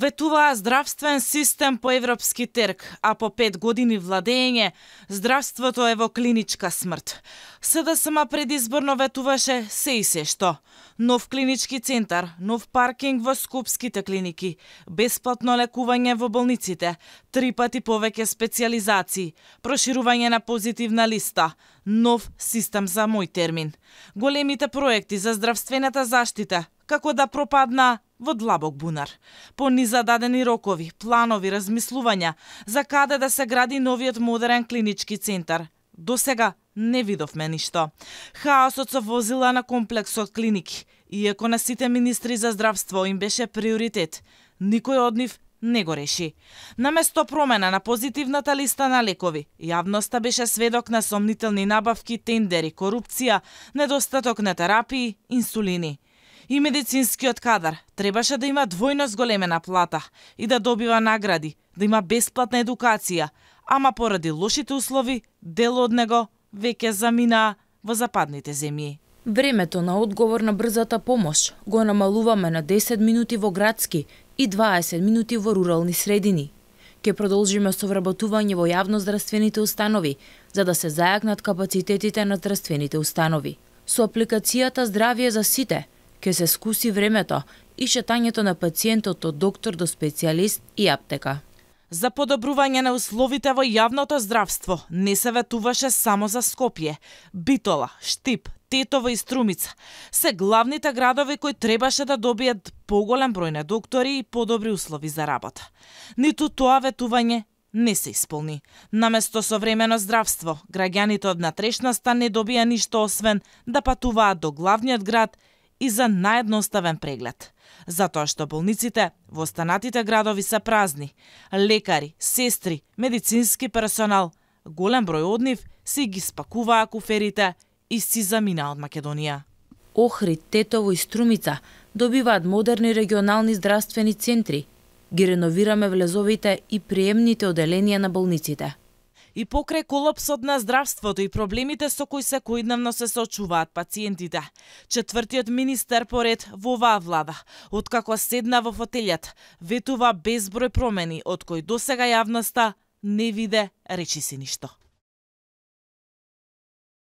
Ветуваа здравствен систем по европски терк, а по 5 години владење, здравството е во клиничка смрт. СДСМ предизборно ветуваше се и се што. Нов клинички центар, нов паркинг во скопските клиники, бесплатно лекување во болниците, 3 пати повеќе специјализации, проширување на позитивна листа, нов систем за мој термин. Големите проекти за здравствената заштита, како да пропадна во длабок бунар. По низададени рокови, планови, размислувања за каде да се гради новиот модерен клинички центар. До сега не видовме ништо. Хаосот со возила на комплексот клиники, иако на сите министри за здравство им беше приоритет, никој од нив не го реши. Наместо промена на позитивната листа на лекови, јавноста беше сведок на сомнителни набавки, тендери, корупција, недостаток на терапии, инсулини. И медицинскиот кадар требаше да има двојно зголемена плата и да добива награди, да има бесплатна едукација, ама поради лошите услови, дел од него веќе заминаа во западните земји. Времето на одговор на брзата помош го намалуваме на 10 минути во градски и 20 минути во рурални средини. Ке продолжиме со вработување во јавноздравствените установи, за да се зајакнат капацитетите на здравствените установи. Со апликацијата Здравје за сите, ке се скуси времето и шетањето на пациентот од доктор до специјалист и аптека. За подобрување на условите во јавното здравство не се ветуваше само за Скопје. Битола, Штип, Тетово и Струмица се главните градови кои требаше да добијат поголем број на доктори и подобри услови за работа. Ниту тоа ветување не се исполни. Наместо современо здравство, граѓаните од натрешноста не добија ништо освен да патуваат до главниот град и за наедноставен преглед. Затоа што болниците во останатите градови се празни. Лекари, сестри, медицински персонал, голем број од нив си ги спакуваа куферите и си заминаа од Македонија. Охрид, Тетово и Струмица добиваат модерни регионални здравствени центри. Ги реновираме влезовите и приемните оделенија на болниците. И покрај колапсот на здравството и проблемите со кои секојдневно се соочуваат пациентите, четвртиот министер поред во оваа влада, откако седна во фотелјата, ветува безброј промени од кои досега јавноста не виде речиси ништо.